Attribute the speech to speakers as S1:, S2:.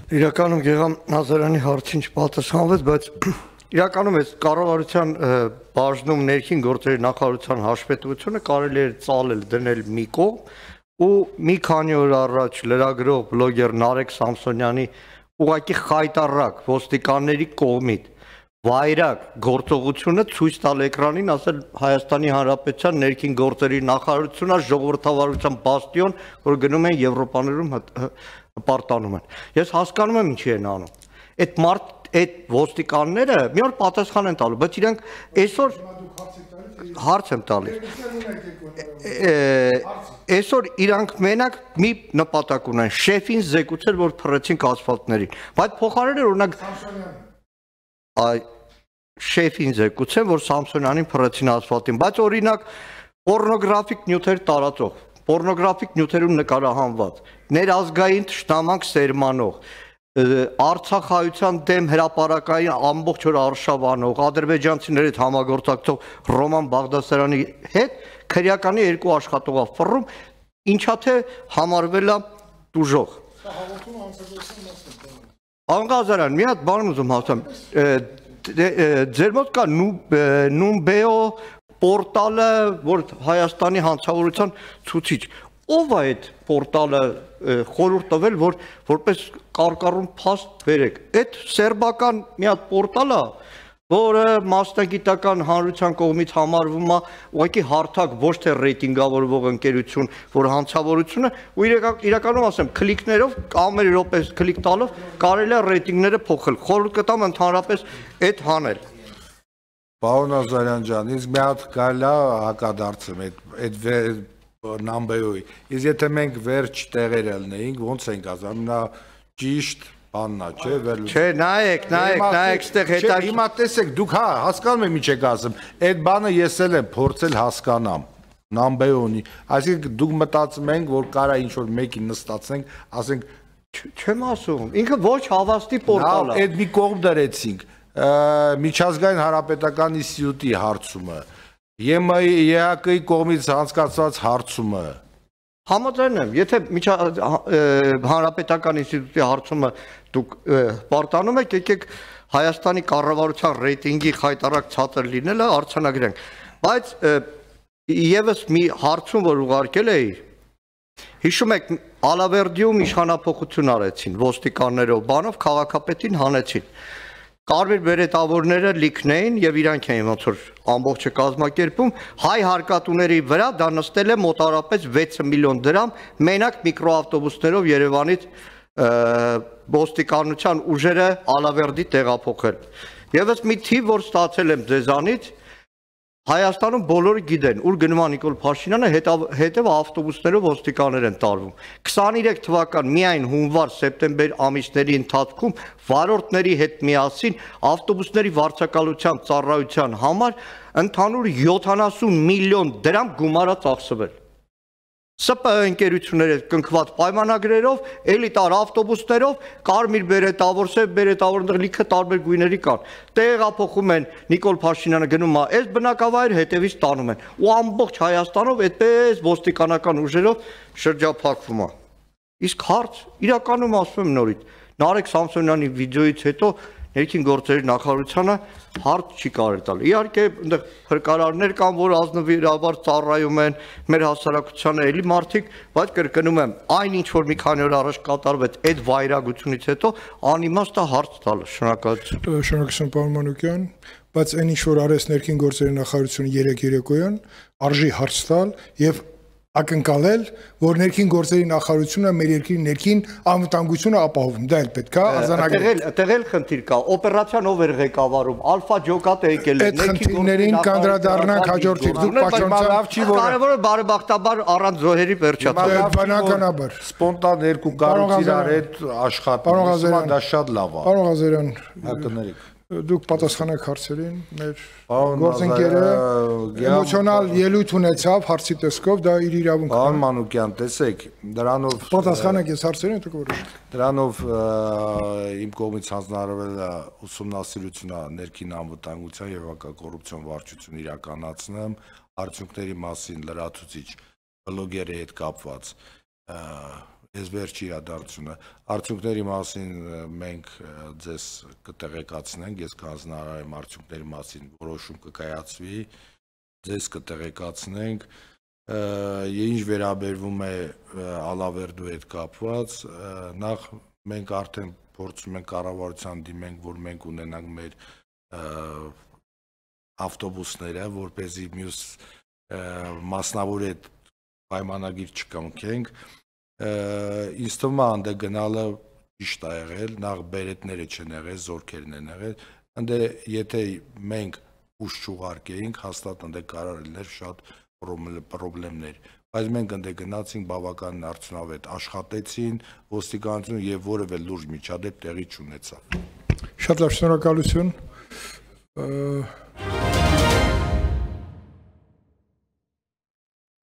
S1: Իրականում Գեգամ Նազարյանի հարցին չպատասխանվեց, բայց իրականում այս կառավարության բաժնում ներքին գործերի նախարարության հաշվետվությունը կարելի է ծալել դնել մի կողմ ու մի քանի օր առաջ լրագրող բլոգեր Նարեկ Սամսոնյանի ուղղակի խայտառակ ոստիկանների կողմից վայրագ գործողությունը ցույց տալ էկրանին, ասել Հայաստանի Հանրապետության ներքին գործերի նախարարությունն է ժողովրդավարության բաստիոն, որ գնում են Եվրոպաներում հպարտանում են։ Ես հասկանում եմ ինչի են անում։ Այդ ոստիկանները մի օր պատասխան են տալու, բայց իրենք այսօր հարց եմ տալիս։ Այսօր իրանք մենակ մի նպատակ ունեն, շեֆին զեկուցել, որ փռեցին ասֆալտներին, բայց փոխարենը օրինակ շեֆին զեկուցել, որ Սամսոնյանին փռեցին ասֆալտին, բայց օրինակ պորնոգրաֆիկ նյութեր տարածող, պորնոգրաֆիկ նյութերում նկարահանված, ներազգային թշնամանք սերմանող, Արցախայության դեմ հրապարակային ամբողջ օր արշավանող, ադրբեջանցիների հետ համագործակցող Ռոման Բաղդասարյանի հետ քրեականի երկու աշխատող ֆռում, ինչա թե համարվել է դուժող։ Անգազարյան, մի հատ բան ուզում հասնեմ, ձեր մոտ կա Numbeo պորտալը, որ Հայաստանի հանցավորության ցուցիչ, ով է այդ պորտալը խորհուրդ տվել, որ որպես կարկառուն փաստ վերեք, այդ սերբական մի հատ պորտալ է, որը մասնագիտական հանրության կողմից համարվում է ուղղակի հարթակ, ոչ թե ռեյտինգավորվող ընկերություն, որ հանցավորությունը ու իրականում ասեմ, քլիկներով, ամեն րոպե քլիկ տալով կարելի է ռեյտինգները փոխել։ Խորհուրդ կտամ ընդհանրապես այդ հանել։
S2: Պարոն Նազարյան ջան, իսկ մի հատ կարելի է հակադարձեմ այդ Numbeo-ի։ Իսկ եթե մենք վերջ տեղերը լնեինք, ոնց ենք ասում, նա ճիշտ բաննա, չէ,
S1: Չէ, նայեք, ստեղ հետա։
S2: Հիմա տեսեք, դուք հա, հասկանում եք ինչ եք ասում։ Այդ բանը ես էլ եմ փորձել հասկանամ։ Numbeo-ի, այսինքն դուք մտածում եք, որ կարա ինչ-որ մեկին նստացենք, ասենք,
S1: չեմ ասում, ինքը ոչ հավաստի պորտալ է։
S2: Այդ մի կողմ դրեցինք, միջազգային հանրապետական ինստիտուտի հարցումը, ԵՄ-ի կողմից անցկացված հարցումը։
S1: Համաձայն եմ, եթե հանրապետական ինստիտուտի հարցումը դուք պարտանում եք, եկեք Հայաստանի կառավարության ռեյտինգի խայտառակ ցածր լինելը արձանագրենք, բայց եւս մի հարցում, որ ուղարկել էի, հիշում եք, Ալավերդիում իշխանափոխություն արեցին ոստիկաններով, բանով քաղաքապետին հանեցին։ Կարմիր բերետավորները լիքն էին եւ իրանք էին ոնց որ ամբողջը կազմակերպում, հայ հարկատուների վրա դա նստել է մոտարապես 6 միլիոն դրամ, մենակ միկրոավտոբուսներով Երևանից ոստիկանության ուժերը Ալավերդի տեղափոխել։ Եվս մի թիվ, որ ստացել եմ ձեզանից, Հայաստանում բոլորը գիտեն, ուր գնում է Նիկոլ Փաշինյանը, հետև ավտոբուսներով ոստիկաններ են տարվում։ 23 թվական միայն հունվար-սեպտեմբեր ամիսների ընթացքում վարորդների հետ միասին ավտոբուսների վարձակալության ծառայության համար ընդհանուր 70 միլիոն դրամ գումար է ծախսվել։ ՍՊ ընկերությունների հետ կնքված պայմանագրերով, էլիտար ավտոբուսներով, կարմիր բերետավոր, սև բերետավորներ լիքը տարբեր գույների կան։ Տեղափոխում են Նիկոլ Փաշինյանը գնում է այս բնակավայր, հետևից տանում են։ Ու ամբողջ Հայաստանով այդպես ոստիկանական ուժերով շրջափակվում է։ Իսկ հարց, իրականում ասում եմ նորից, Նարեկ Սամսոնյանի վիդեոից հետո ներքին գործերի նախարարությունը հարց չի կարել տալ։ Իհարկե, այնտեղ փրկարարներ կան, որ ազնվիրաբար ծառայում են մեր հասարակությանը էլի մարդիկ, բայց կրկնում եմ, այն ինչ որ մի քանի օր առաջ կատարվեց այդ վայրագությունից հետո անիմաստ է հարց տալը։ Շնորհակալություն։
S3: Շնորհակալություն, պարոն Մանուկյան, բայց այն ինչ որ արեց ներքին գործերի նախարարությունը երեկոյան, արժի հարց տալ եւ ակնկալել, որ ներքին գործերի նախարարությունը մեր երկրի ներքին անվտանգությունը ապահովում, դա էլ պետք է արձանագրել։
S1: Այդտեղ խնդիր կա, օպերացիան ով էր ղեկավարում, Ալֆա Ջոկատը եկել է,
S3: ներքին գործերին կանդրադառնանք հաջորդի։ Դուք
S1: պաշտոնյա կարևորը բարեբախտաբար առանց զոհերի վերջացավ։
S3: Բնականաբար։
S2: Սպոնտան երկու կառույց իրար հետ աշխատում, դա շատ լավ է։
S3: Պարոն Ղազարյան,
S2: հակներեք։
S3: Դուք պատասխանեք հարցերին, մեր գործընկերը էմոցիոնալ ելույթ ունեցավ հարցի տեսքով, դա իր իրավունքն է։
S2: Պարոն Մանուկյան, տեսեք, դրանով
S3: պատասխանեք ես հարցերին, դուք որոշեք։
S2: Դրանով իմ կողմից հանձնարարվել է ուսումնասիրությունը ներքին անվտանգության եւ հակակոռուպցիոն վարչություն իրականացնեմ, արդյունքների մասին լրացուցիչ բլոգերի հետ կապված այս վերջի իրադարձությունը արդյունքների մասին մենք ձեզ կտեղեկացնենք, ես կանձնարար եմ արդյունքների մասին որոշում կկայացվի, ձեզ կտեղեկացնենք, ինչ վերաբերվում է Ալավերդու հետ կապված, նախ մենք արդեն փորձում ենք կառավարության դիմենք, որ մենք ունենանք մեր ավտոբուսները, որպեսզի մյուս մասնավոր հետ պայմանագիր չկնքենք, ինձ թվում է անդե գնալը ճիշտ է եղել, նախ բերետները չեն եղել, զորքերն են եղել, անդե եթե մենք ուշ չուղարկեինք, հաստատ անդե կարող լիներ շատ պրոբլեմներ, բայց մենք անդե գնացինք բավական արդյունավետ աշխատեցին, ոստիկանությունը եւ որևէ լուրջ միջադեպ տեղի չունեցավ։
S3: Շատ լավ, շնորհակալություն։